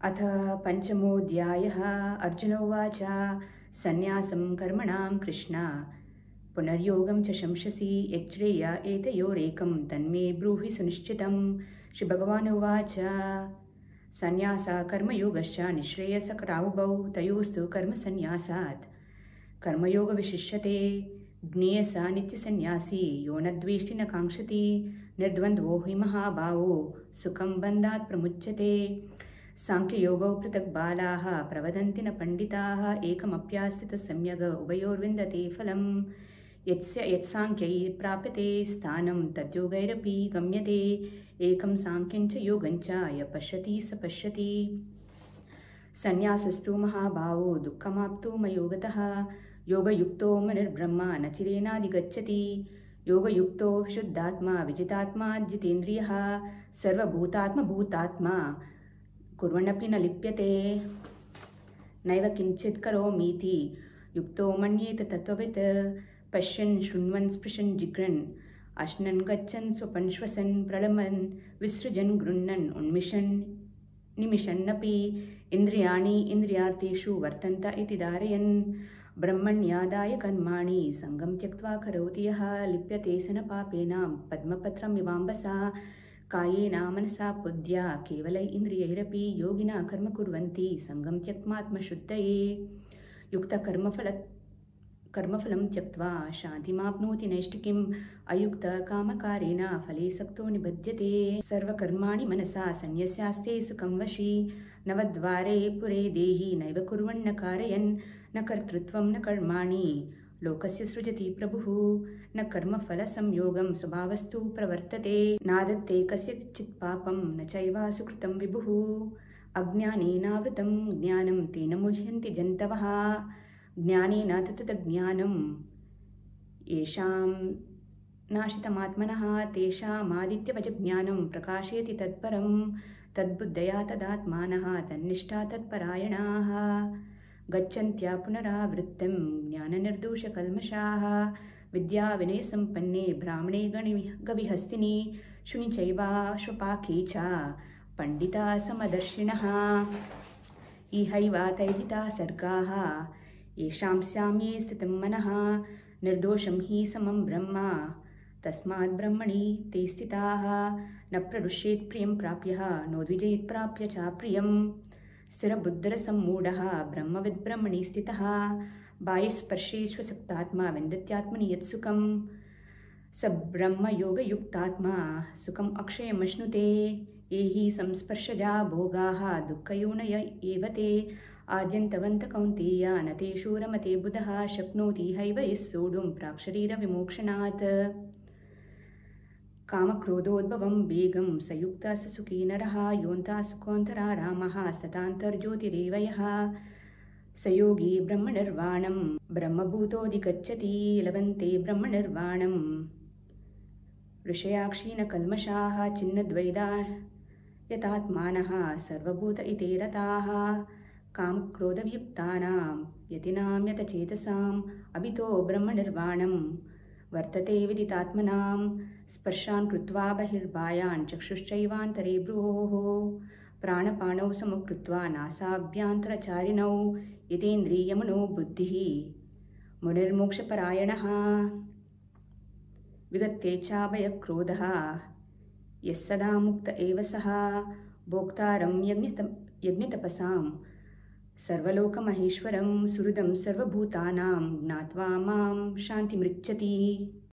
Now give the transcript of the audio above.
अथ पञ्चमोऽध्यायः। अर्जुन उवाच सन्न्यासं कर्मणां कृष्ण पुनर्योगं च शंससि यच्छ्रेय एतयोरेकं तन्मे ब्रूहि सुनिश्चितं। श्रीभगवान् उवाच सन्न्यासः कर्मयोगश्च निःश्रेयसकरावुभौ तयोस्तु कर्मसन्न्यासात् कर्मयोगविशिष्यते। ज्ञेयः नित्यसन्न्यासी यो न द्वेष्टि न काङ्क्षति निर्द्वन्द्वो हि महाभावो सुखं बन्धात् प्रमुच्यते। साङ्ख्ययोगौ पृथक् बालाः प्रवदन्ति न पण्डिताः एकमप्यास्थितः सम्यग् उभयोर्विन्दते फलम्। यत्साङ्ख्यैः प्राप्यते स्थानं तद्योगैरपि गम्यते एकं साङ्ख्यं च योगं च यः पश्यति स पश्यति। सन्न्यासस्तु महाभावो दुःखमाप्तुमयो गतः योगयुक्तो मनिर्ब्रह्म न चिरेणाधिगच्छति। योगयुक्तो शुद्धात्मा विजितात्मा जितेन्द्रियः सर्वभूतात्मभूतात्मा कुर्वन्नपि न लिप्यते। नैव किञ्चित् करोमीति युक्तो मन्येत तत्त्ववित् पश्यन् शृण्वन् स्पृशन् जिघ्रन् अश्नन् गच्छन् स्वपन् श्वसन् प्रलम्बन् विसृजन् गृह्णन् उन्मिषन् निमिषन्नपि इन्द्रियाणि इन्द्रियार्थेषु वर्तन्त इति धारयन् ब्रह्मण्यादाय कर्माणि सङ्गं त्यक्त्वा करोति यः लिप्यते स न पापेन पद्मपत्रमिवाम्बसा कायेन मनसा बुद्ध्या केवलै इन्द्रियैरपि योगिनः कर्म कुर्वन्ति सङ्गं त्यक्त्वात्मशुद्धये। युक्तकर्मफलं त्यक्त्वा शान्तिमाप्नोति नैष्ठिकीम् अयुक्तकामकारेण फले सक्तो निबध्यते। सर्वकर्माणि मनसा सन्न्यस्यास्ते सुखं वशी नवद्वारे पुरे देहि नैव कुर्वन्न कारयन् न कर्तृत्वं न कर्माणि लोकस्य सृजति प्रभुः न कर्मफलसंयोगं स्वभावस्तु प्रवर्तते नादत्ते कस्यचित् पापं न चैव सुकृतं विभुः। अज्ञानेनावृतं ज्ञानं तेन मुह्यन्ति जन्तवः ज्ञानेन तत्तज्ज्ञानं येषां नाशितमात्मनः तेषामादित्यवज्ज्ञानं प्रकाशयति तत्परं तद्बुद्धया तदात्मानः तन्निष्ठा तत्परायणाः गच्छन्त्या पुनरावृत्तिं ज्ञाननिर्दोषकल्मषाः विद्याविनयसम्पन्ने ब्राह्मणे गविहस्तिनि शुनि चैवाश्वपाके च पण्डिताः समदर्शिनः इहैव तैर्हिताः सर्गाः येषां साम्ये स्थितं मनः निर्दोषं हि समं ब्रह्म तस्मात् ब्रह्मणि ते स्थिताः न प्ररुष्येत् प्रियं प्राप्यः नोद्विजेत् प्राप्य च प्रियम्। स्थिरबुद्धिरसम्मूढः ब्रह्मविद्ब्रह्मणि स्थितः बाह्यस्पर्शेष्वसक्तात्मा विन्दत्यात्मनि यत्सुखं स ब्रह्मयोगयुक्तात्मा सुखम् अक्षयमश्नुते। ये हि संस्पर्शजा भोगाः दुःखयोनय एव ते आद्यन्तवन्त कौन्तेय न तेषु रमते बुधः शक्नोति हैव यः सोढुं प्राक्शरीरविमोक्षणात्। कामक्रोधोद्भवं वेगं सयुक्तः स सुखी नरः योऽन्तः सुखोऽन्तरारामः सतान्तर्ज्योतिरेव यः स योगी ब्रह्मनिर्वाणं ब्रह्मभूतोऽधिगच्छति लभन्ते ब्रह्मनिर्वाणम्। ऋषयाक्षीणकल्मषाः छिन्नद्वैधा यतात्मानः सर्वभूत इते रताः कामक्रोधयुक्तानां यतिनां यतचेतसाम् अभितो ब्रह्मनिर्वाणं वर्तते विदितात्मनां। स्पर्शान् कृत्वा बहिर्बाह्यान् चक्षुश्चैवान्तरे भ्रुवोः प्राणपाणौ समकृत्वा नासाभ्यान्तरचारिणौ यतेन्द्रियमनो बुद्धिः मुनिर्मोक्षपरायणः। विगतेच्छाभयक्रोधः यः सदा मुक्त एव सः भोक्तारं यज्ञतपसां सर्वलोकमहेश्वरं सुहृदं सर्वभूतानां ज्ञात्वा मां शान्तिमृच्छति।